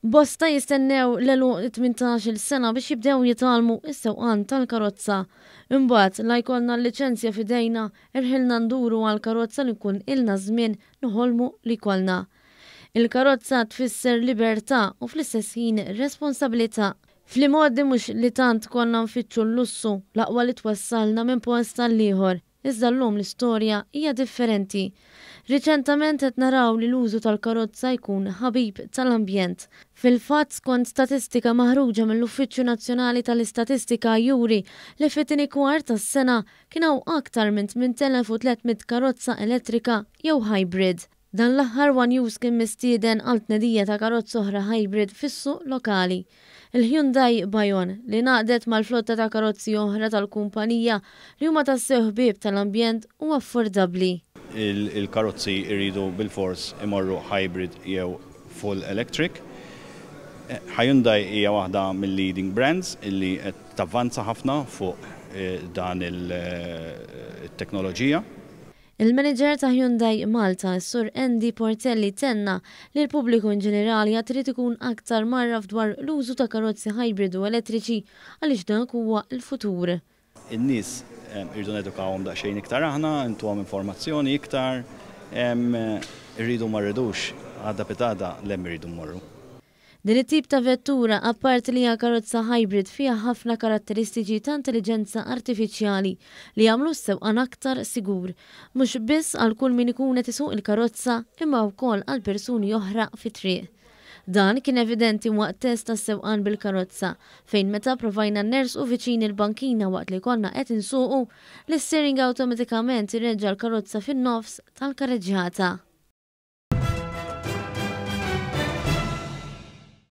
Bosta jistennew l-għeluq it-18-il sena biex jibdew jitgħallmu s-sewqan tal-karozza. Imbagħad, la jkollna l-liċenzja f'idejna, irħilna nduru għal karozza li nkun ilna żmien noħolmu li jkollna. Il-karozza tfisser libertà u fl-istess ħin responsabilità. Fl-imgħoddi mhux li tant konna nfittxu l-lussu, l-aqwa li twassalna minn post għall-ieħor. Iżda llum l-istorja hija differenti. Riċentament qed naraw li l-użu tal-karozza jkun ħabib tal-ambjent. Fil-fatt skont statistika maħruġa mill-Uffiċċju Nazzjonali tal-Istatistika juri li fit-tieni kwart tas-sena kien hawn aktar minn 8,300 karozza elettrika jew hybrid. Dan l-aħħar one News kien mistieden għal tnedija ta' karozza oħra hybrid fis-suq lokali. Il-Hyundai Bayon, li ngħaqdet mal-flotta ta' karozzi oħra tal-kumpanija li huma tassew ħbieb tal-ambjent u affordabbli. Il-karozzi jridu bilfors imorru hybrid jew full electric. Hyundai hija waħda mill-leading brands illi qed tavvanza ħafna fuq dan il-teknoloġija. Il-Manager ta' Hyundai Malta, is-Sur Andy Portelli tenna li l-pubbliku in ġenerali għad irid ikun aktar mgħarraf dwar l-użu ta' karozzi hybrid u elettriċi għaliex dak huwa l-futur. In-nies irridu nedukawhom daqsxejn iktar aħna, ntuhom informazzjoni iktar, irridu ma rridux, għada pitgħada 'l hemm irridu mmorru. Din it-tip ta' vettura, apparti li hija karozza hybrid, fiha ħafna karatteristiċi ta' intelliġenza artifiċjali li jagħmlu s-sewqan aktar sigur, mhux biss għal kull min ikun qed isuq il-karozza imma wkoll għal persuni oħra fit-triq. Dan kien evidenti waqt test tas-sewqan bil-karozza, fejn meta provajna nersqu viċin il-bankina waqt li konna qed insuqu, l-isteering awtomatikament ireġġa' l-karozza fin-nofs tal-kareġġjata.